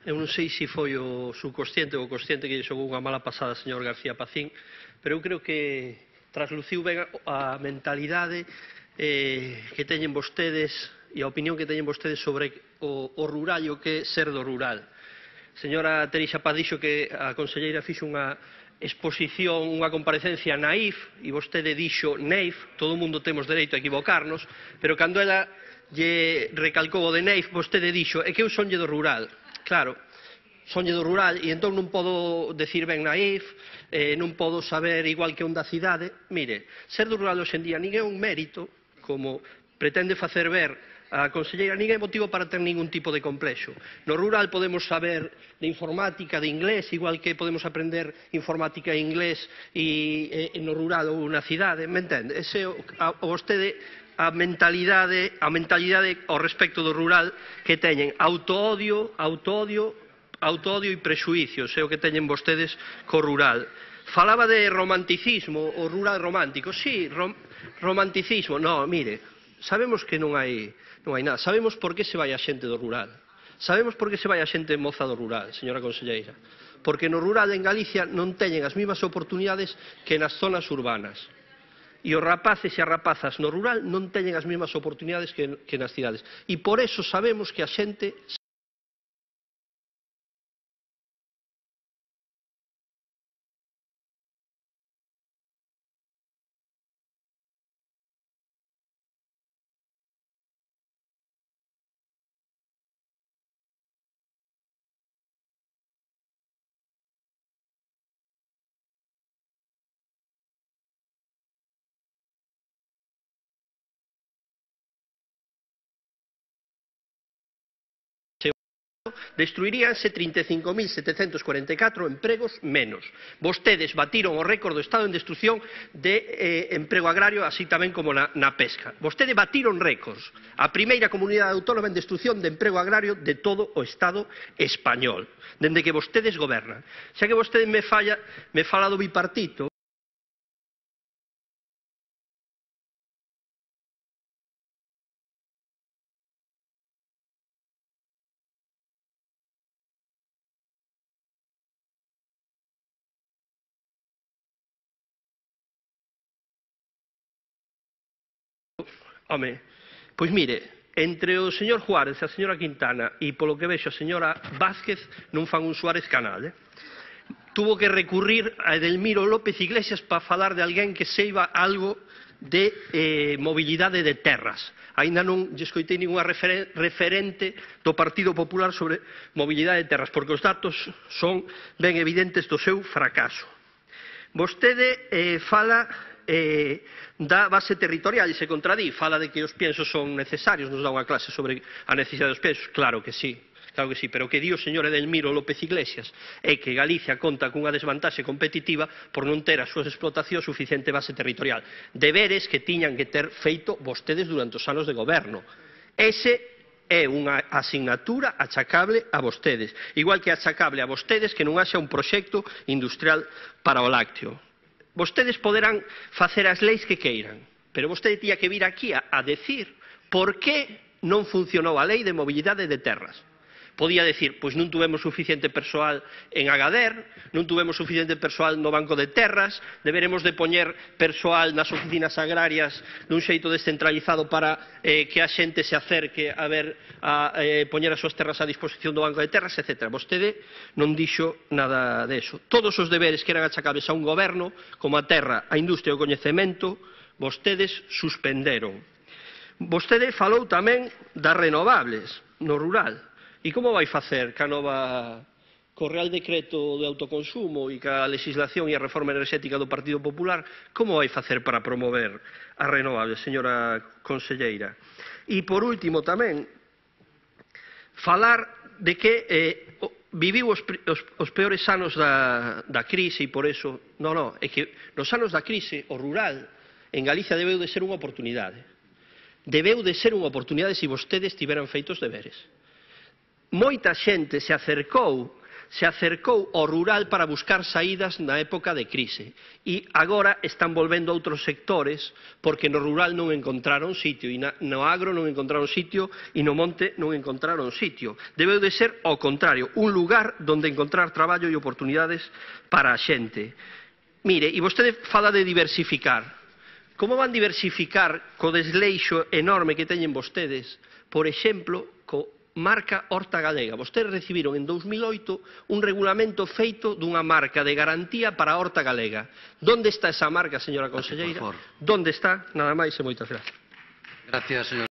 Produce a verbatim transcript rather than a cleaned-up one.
Eu non sei se foi o subconsciente ou o consciente que lle xogou unha mala pasada ao señor García Pacín, pero eu creo que trasluciu ben a mentalidade eh, que teñen vostedes e a opinión que teñen vostedes sobre o, o rural e o que é ser do rural. Señora Terixa Paz dixo que a conselleira fixo unha exposición, unha comparecencia naif, e vostede dixo neif, todo o mundo temos dereito a equivocarnos, pero cando ela lle recalcou o de neif, vostede dixo, é que eu sonlle do rural. Claro, sonlle do rural, e entón non podo decir ben naif, eh, non podo saber igual que un da cidade. Mire, ser do rural hoxe en día nin é un mérito, como pretende facer ver a conselleira, nin é motivo para ter ningún tipo de complexo. No rural podemos saber de informática, de inglés, igual que podemos aprender informática e inglés e, e no rural ou na cidade, me entende? Ese a, a vostede a mentalidade, a mentalidade ao respecto do rural que teñen autoodio, autoodio, autoodio e prexuicios, é o que teñen vostedes co rural. Falaba de romanticismo, o rural romántico. Sí, rom, romanticismo. No, mire, sabemos que non hai, non hai nada. Sabemos por que se vai a xente do rural. Sabemos por que se vai a xente moza do rural, señora conselleira. Porque no rural en Galicia non teñen as mesmas oportunidades que nas zonas urbanas. E os rapaces e as rapazas no rural non teñen as mesmas oportunidades que, que nas cidades. E por eso sabemos que a xente... destruiríanse trinta e cinco mil setecentos cuarenta e catro empregos menos. Vostedes batiron o récord do Estado en destrucción de eh, emprego agrario, así tamén como na, na pesca. Vostedes batiron récords. A primeira comunidade autónoma en destrucción de emprego agrario de todo o Estado español, dende que vostedes gobernan. Xa que vostedes me, falla, me fala do bipartito, home, pois mire, entre o señor Juárez e a señora Quintana e polo que vexo a señora Vázquez non fan un Suárez Canal, eh? Tuvo que recurrir a Edelmiro López Iglesias para falar de alguén que seiba algo de eh, mobilidade de terras. Aínda non lle escoitei ninguna refer referente do Partido Popular sobre mobilidade de terras, porque os datos son ben evidentes do seu fracaso. Vostede eh, fala eh, da base territorial e se contradí, fala de que os piensos son necesarios, nos dá unha clase sobre a necesidade dos piensos, claro que sí, claro que sí, pero o que di o señor Edelmiro López Iglesias é que Galicia conta cunha desvantaxe competitiva por non ter as súas explotacións suficiente base territorial, deberes que tiñan que ter feito vostedes durante os anos de goberno. Ese é unha asignatura achacable a vostedes, igual que achacable a vostedes que non haxa un proxecto industrial para o lácteo. Vostedes poderán facer as leis que queiran, pero vostede tía que vir aquí a, a decir por que non funcionou a lei de mobilidade de terras. Podía decir, pois non tuvemos suficiente persoal en Agader, non tuvemos suficiente persoal no Banco de Terras, deberemos de poñer persoal nas oficinas agrarias dun xeito descentralizado para eh, que a xente se acerque a ver a eh, poñer as súas terras a disposición do Banco de Terras, etcétera. Vostede non dixo nada deso. Todos os deberes que eran achacables a un goberno, como a terra, a industria e o coñecemento, vostedes suspenderon. Vostede falou tamén das renovables no rural. E como vai facer ca nova co Real Decreto de autoconsumo e ca legislación e a reforma enerxética do Partido Popular, como vai facer para promover as renovables, señora conselleira? E por último tamén, falar de que eh, viviu os, os, os peores anos da, da crise e por eso, non, non, é que nos anos da crise o rural en Galicia debeu de ser unha oportunidade. Debeu de ser unha oportunidade se vostedes tiveran feitos deberes. Moita xente se acercou, se acercou ao rural para buscar saídas na época de crise e agora están volvendo a outros sectores porque no rural non encontraron sitio e no agro non encontraron sitio e no monte non encontraron sitio. Debeu de ser ao contrario, un lugar donde encontrar traballo e oportunidades para a xente. Mire, e vostede fala de diversificar. Como van diversificar co desleixo enorme que teñen vostedes, por exemplo, co marca Horta Galega? Vostedes recibiron en dous mil oito un regulamento feito dunha marca de garantía para a Horta Galega. Donde está esa marca, señora conselleira? Donde está? Nada máis e moitas gracias. Gracias, señor.